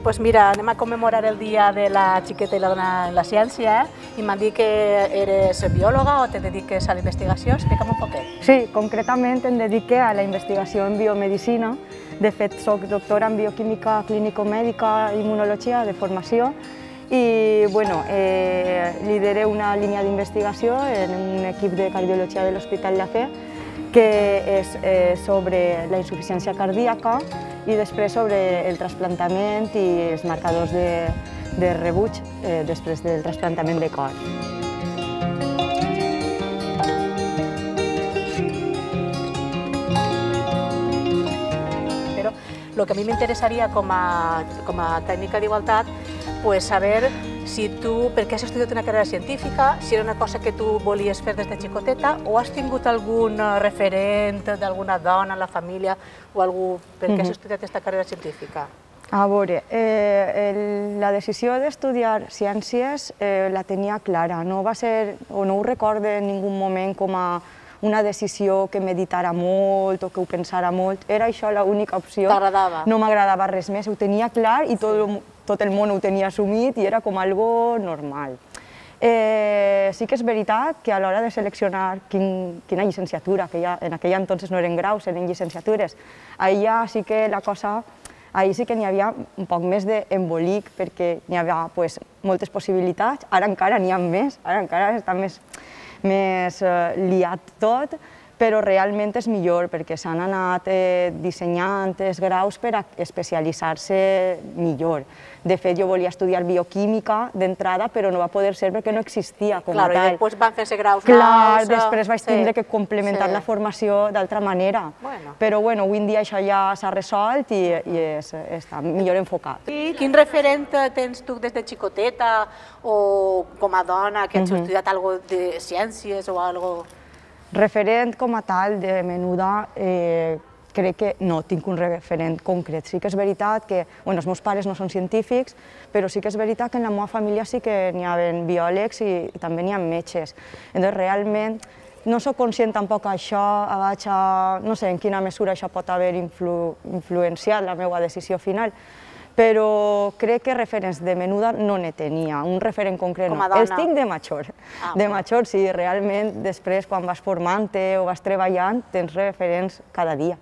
Doncs mira, anem a commemorar el dia de la xiqueta i la dona en la ciència i m'han dit que eres biòloga o te dediques a la investigació. Explica'm un poquet. Sí, concretament em dedique a la investigació en biomedicina. De fet, soc doctora en bioquímica clínico-mèdica i immunologia de formació i lidero una línia d'investigació en un equip de cardiologia de l'Hospital La Fe que és sobre la insuficiència cardíaca i després sobre el trasplantament i els marcadors de rebuig després del trasplantament de cor. Però el que a mi m'interessaria com a tècnica d'igualtat és saber si tu, per què has estudiat una carrera científica, si era una cosa que tu volies fer des de xicoteta o has tingut algun referent d'alguna dona en la família o algú per què has estudiat aquesta carrera científica? A veure, la decisió d'estudiar ciències la tenia clara, no va ser, o no ho recordo en ningú moment com a una decisió que meditara molt o que ho pensara molt, era això l'única opció. T'agradava? No m'agradava res més, ho tenia clar i tot el món ho tenia assumit i era com algo normal. Sí que és veritat que a l'hora de seleccionar quina llicenciatura, que en aquell entonces no eren graus, eren llicenciatures, allà sí que la cosa, ahir sí que n'hi havia un poc més d'embolic perquè n'hi havia moltes possibilitats, ara encara n'hi ha més, ara encara està més liat tot, però realment és millor perquè s'han anat dissenyant els graus per a especialitzar-se millor. De fet, jo volia estudiar bioquímica d'entrada, però no va poder ser perquè no existia com a tal. I després van fer-se graus nous. Clar, després vaig tindre que complementar la formació d'altra manera. Però avui en dia això ja s'ha resolt i està millor enfocat. I quin referent tens tu des de xicoteta o com a dona que has estudiat alguna cosa de ciències o alguna cosa? Referent com a tal, de menuda, crec que no tinc un referent concret. Sí que és veritat que els meus pares no són científics, però sí que és veritat que en la meva família sí que n'hi havia biòlegs i també n'hi ha metges. Llavors, realment, no soc conscient tampoc que això, no sé en quina mesura això pot haver influenciat la meva decisió final, però crec que referents de menuda no ne tenia, un referent concret no. Els tinc de major. De major sí, realment després quan vas formant-te o vas treballant tens referents cada dia.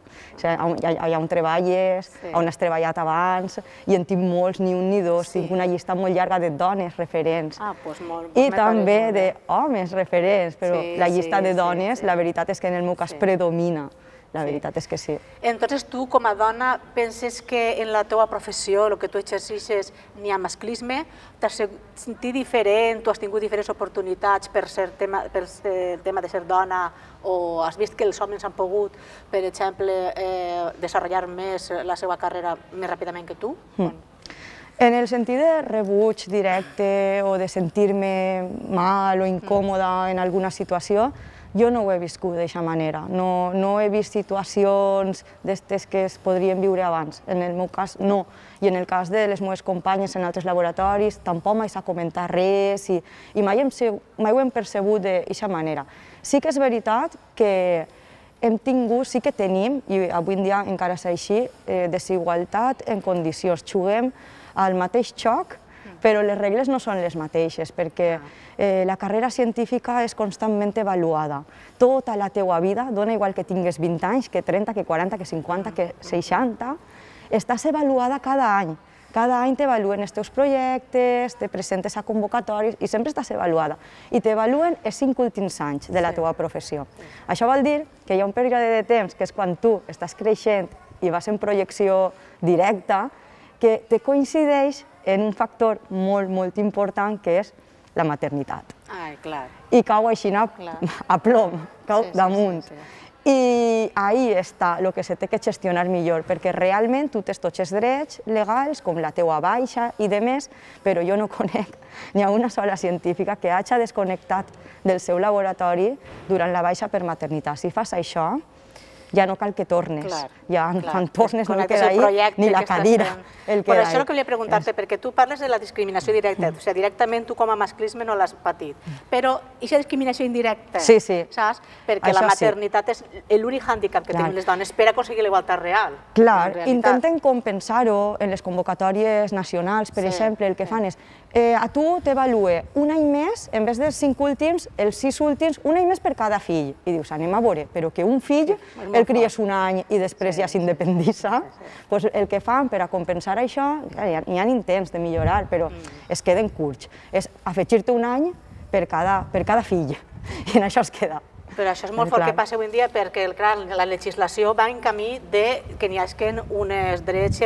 Allà on treballes, on has treballat abans, i en tinc molts, ni un ni dos, tinc una llista molt llarga de dones referents. I també d'homes referents, però la llista de dones, la veritat és que en el meu cas predomina. La veritat és que sí. Entonces tu, com a dona, penses que en la teva professió, el que tu exerceixes, n'hi ha masclisme? T'has sentit diferent, tu has tingut diferents oportunitats per el tema de ser dona o has vist que els homes han pogut, per exemple, desenvolupar més la seva carrera més ràpidament que tu? En el sentit de rebuig directe o de sentir-me mal o incòmoda en alguna situació, jo no ho he viscut d'aquesta manera, no he vist situacions d'aquestes que es podrien viure abans. En el meu cas, no. I en el cas de les meves companyes en altres laboratoris, tampoc mai s'ha comentat res i mai ho hem percebut d'aquesta manera. Sí que és veritat que hem tingut, sí que tenim, i avui en dia encara és així, desigualtat en condicions. Juguem al mateix joc, però les regles no són les mateixes, perquè la carrera científica és constantment avaluada. Tota la teua vida, dona igual que tingues 20 anys, que 30, que 40, que 50, que 60, estàs avaluada cada any. Cada any t'avaluen els teus projectes, te presentes a convocatoris i sempre estàs avaluada. I t'avaluen els 5 últims anys de la teva professió. Això vol dir que hi ha un període de temps, que és quan tu estàs creixent i vas en projecció directa, que te coincideix en un factor molt, molt important, que és la maternitat. I cau així a plom, cau damunt. I ahí està el que se té que gestionar millor, perquè realment tu tens tots els drets legals, com la teua baixa i demés, però jo no conec ni a una sola científica que hagi desconnectat del seu laboratori durant la baixa per maternitat. Si fas això, ja no cal que tornes. Ja quan tornes no Connectes queda el ahí projecte ni la que estàs cadira. fent. Per això el que volia preguntar-te, perquè tu parles de la discriminació directa, o sigui, directament tu com a masclisme no l'has patit, però aquesta discriminació indirecta, saps? Perquè la maternitat és l'únic hàndicap que tenim les dones per aconseguir la igualtat real. Clar, intenten compensar-ho en les convocatòries nacionals, per exemple, el que fan és a tu t'avalue un any més, en vez dels 5 últims, els 6 últims, un any més per cada fill. I dius, anem a veure, però que un fill el cries un any i després ja s'independitza, doncs el que fan per a compensar això, hi ha intents de millorar, però es queden curts. És afegir-te un any per cada fill, i en això es queda. Però això és molt fort que passa avui en dia perquè la legislació va en camí que n'hi hagi uns drets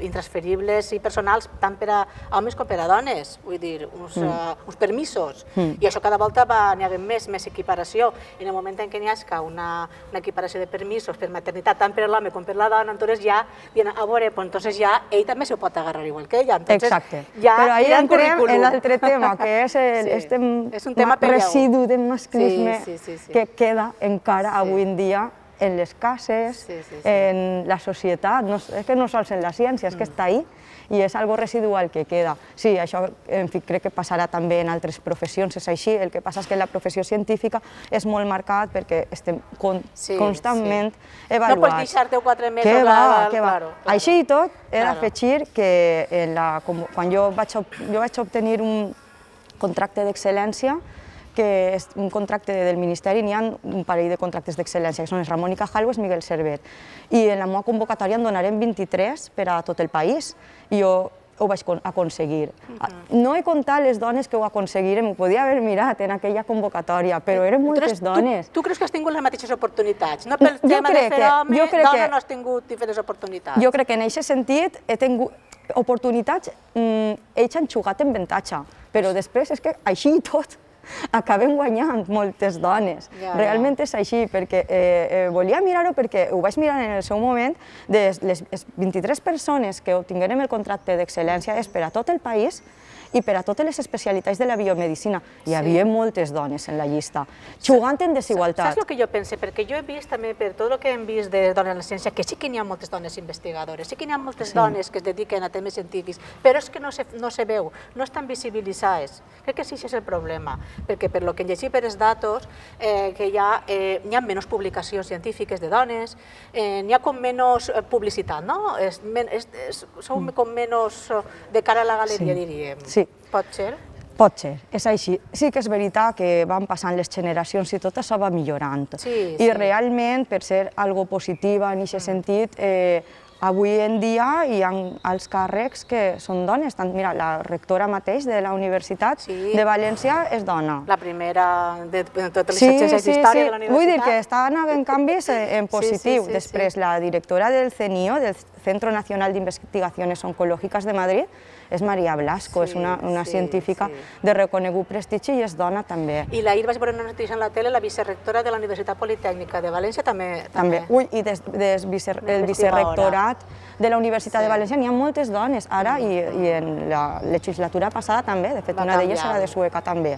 intransferibles i personals tant per a homes com per a dones, vull dir, uns permisos. I això cada volta n'hi ha més equiparació. I en el moment en què n'hi hagi una equiparació de permisos per maternitat tant per a l'home com per a la dona, entonces ja diuen, a veure, doncs ja ell també s'ho pot agarrar igual que ella. Exacte. Però ahí entrem en l'altre tema, que és el residu de masclisme que queda encara avui en dia en les cases, en la societat, és que no sols en la ciència, és que està ahí i és algo residual que queda. Sí, això crec que passarà també en altres professions, és així, el que passa és que en la professió científica és molt marcat perquè estem constantment evaluats. No pots deixar-te 4 mesos. Què va. Així i tot, he d'afegir que quan jo vaig obtenir un contracte d'excel·lència, que és un contracte del Ministeri, n'hi ha un parell de contractes d'excel·lència, que són Ramon i Cajal o Miguel Servet. I en la meva convocatòria en donarem 23 per a tot el país, i jo ho vaig aconseguir. No he comptat les dones que ho aconseguirem, ho podia haver mirat en aquella convocatòria, però eren moltes dones. Tu creus que has tingut les mateixes oportunitats? No pel tema de fer home, dona no has tingut diferents oportunitats? Jo crec que en aquest sentit he tingut oportunitats, ells han jugat en avantatge, però després és que així i tot acabem guanyant moltes dones. Realment és així, perquè volia mirar-ho perquè ho vaig mirar en el seu moment, de les 23 persones que obtingueren el contracte d'excel·lència és per a tot el país i per a totes les especialitats de la biomedicina. Hi havia moltes dones en la llista, jugant en desigualtat. Saps el que jo pense? Perquè jo he vist també, per tot el que hem vist de dones en la ciència, que sí que n'hi ha moltes dones investigadores, sí que n'hi ha moltes dones que es dediquen a temes científics, però és que no se veu, no estan visibilitzades. Crec que sí, això és el problema, perquè per lo que llegim per els datos, que hi ha menys publicacions científiques de dones, n'hi ha com menys publicitat, no? Som com menys de cara a la galeria, diríem. Sí. Pot ser? Pot ser, és així. Sí que és veritat que van passant les generacions i tot això va millorant. I realment, per ser algo positiva en aquest sentit, avui en dia hi ha alts càrrecs que són dones. Mira, la rectora mateix de la Universitat de València és dona. La primera de totes les ciències d'història de la universitat. Vull dir que estan havent canvis en positiu. Després, la directora del CNIO, del Centro Nacional de Investigaciones Oncológicas de Madrid, és Maria Blasco, és una científica de reconegut prestigi i és dona també. I ahir vaig veure una notícia en la tele, la vicerectora de la Universitat Politècnica de València també. Ui, i del vicerectorat de la Universitat de València n'hi ha moltes dones, ara i en la legislatura passada també, de fet una d'elles era de Sueca també.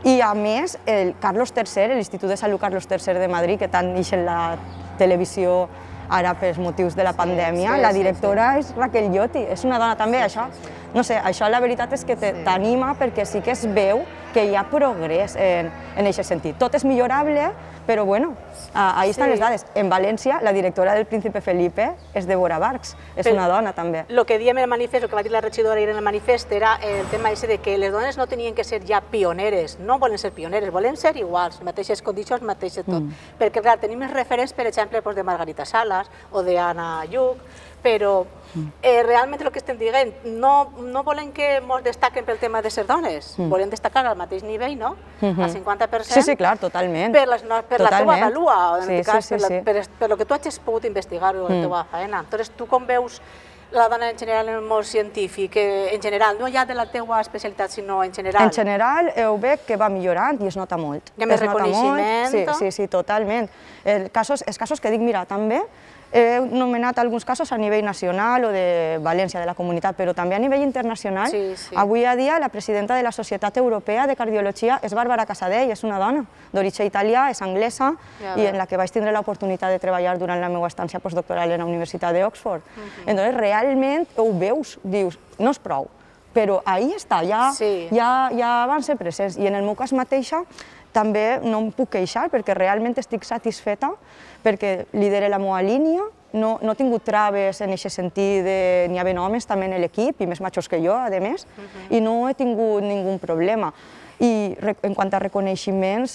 I a més, el Carlos III, l'Institut de Salut Carlos III de Madrid, que tant ix en la televisió ara pels motius de la pandèmia, la directora és Raquel Lloti, és una dona també, això. No sé, això la veritat és que t'anima perquè sí que es veu que hi ha progrés en aquest sentit. Tot és millorable, però bueno, ahí estan les dades. En València, la directora del Príncipe Felipe és Débora Barx, és una dona també. El que diem en el manifest, el que va dir la regidora ahir en el manifest, era el tema de que les dones no tenien que ser ja pioneres, no volen ser pioneres, volen ser iguals, mateixes condicions, mateix tot. Perquè, clar, tenim els referents, per exemple, de Margarita Salas o d'Anna Lluc, però realment el que estem dient, no volen que ens destaquen pel tema de ser dones, volen destacar al mateix nivell, no? Al 50%. Sí, clar, totalment. Per la teva valua, per el que tu hagis pogut investigar o la teva feina. Entonces, tu com veus la dona en general en el món científic, en general, no ja de la teva especialitat, sinó en general? En general, ho veig que va millorant i es nota molt. Hi ha més reconeixement? Sí, totalment. Els casos que dic, mira, també, he nomenat alguns casos a nivell nacional o de València, de la comunitat, però també a nivell internacional. Avui a dia la presidenta de la Societat Europea de Cardiologia és Bàrbara Casadei, és una dona d'origen italià, és anglesa, i en la que vaig tindre l'oportunitat de treballar durant la meva estància postdoctoral en la Universitat d'Oxford. Entonces, realment ho veus, dius, no és prou, però ahí està, ja van ser presents. I en el meu cas mateixa també no em puc queixar perquè realment estic satisfeta perquè lidere la meva línia, no he tingut traves en aquest sentit, n'hi havia homes també en l'equip, i més majors que jo, a més, i no he tingut ningun problema. I en quant a reconeixements,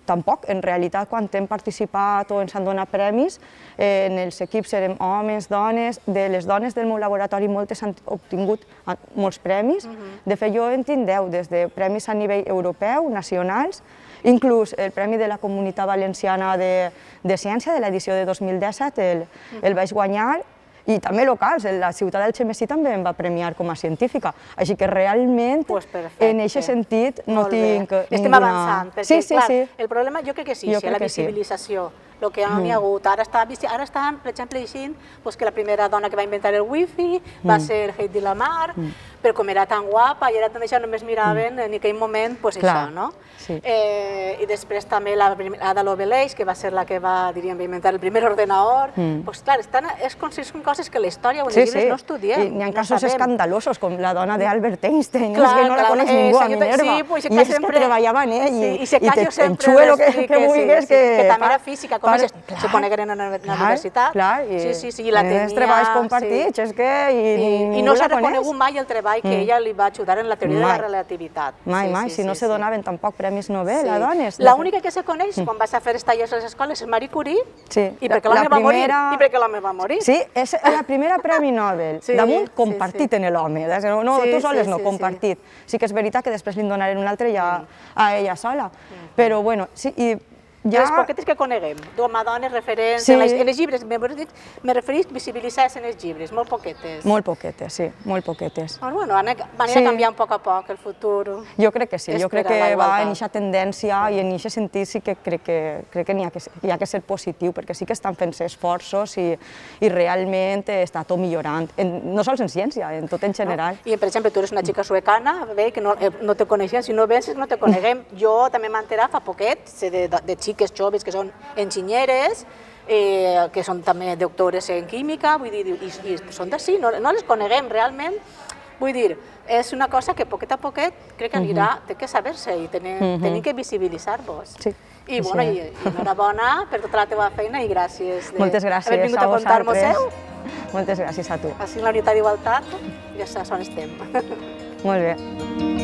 tampoc. En realitat, quan hem participat o ens han donat premis, en els equips érem homes, dones. De les dones del meu laboratori, moltes han obtingut molts premis. De fet, jo en tinc 10, des de premis a nivell europeu, nacionals, inclús el Premi de la Comunitat Valenciana de Ciència de l'edició de 2017 el vaig guanyar, i també locals, la ciutat d'Algemesí també em va premiar com a científica, així que realment en aquest sentit no tinc ninguna... Estem avançant, perquè clar, el problema jo crec que sí, la visibilització, el que no n'hi ha hagut. Ara estan, per exemple, dient que la primera dona que va inventar el wifi va ser Heidi Lamar, però com era tan guapa i era tan deixada, només miraven en aquell moment això, no? I després també l'Ada Lovelace, que va ser la que va, diríem, inventar el primer ordenador. Doncs clar, són coses que la història o els llibres no estudiem. N'hi ha casos escandalosos, com la dona d'Albert Einstein, que no la coneix ningú a Minerva, i és que treballava en ell, i t'enxuelo que vulguis que... Que també era física, com se conegueren a la universitat. Clar, i els treballs compartits, és que i no s'ha reconegut mai el treball que ella li va ajudar en la teoria de la relativitat. Mai, si no se donaven tampoc premis Nobel a dones. L'única que se coneix quan vas a fer els tallers a les escoles és Marie Curie, i perquè l'home va morir. Sí, és la primera premi Nobel, damunt compartit en l'home, tu soles no, compartit. Sí que és veritat que després li donaren un altre ja a ella sola, però bueno, sí, i les poquetes que coneguem, com a dones referents, en els llibres, me referís visibilitzades en els llibres, molt poquetes. Molt poquetes, sí, molt poquetes. Doncs bueno, van a canviar un poc a poc el futur. Jo crec que sí, jo crec que va en aquesta tendència i en aquest sentit sí que crec que n'hi ha que ser positiu, perquè sí que estan fent-se esforços i realment està tot millorant, no sols en ciència, en tot en general. I per exemple, tu eres una xica suecana, que no te coneixien, si no vens no te coneguem. Jo també m'he enterat fa poquet de xiques joves que són enginyeres, que són també doctores en química, vull dir, i són d'ací, no les coneguem realment. Vull dir, és una cosa que poquet a poquet crec que anirà, té que saber-se i tenim que visibilitzar-vos. I enhorabona per tota la teva feina i gràcies d'haver vingut a contar-nos-ho. Moltes gràcies a tu. Així en la unitat d'igualtat ja saps on estem. Molt bé.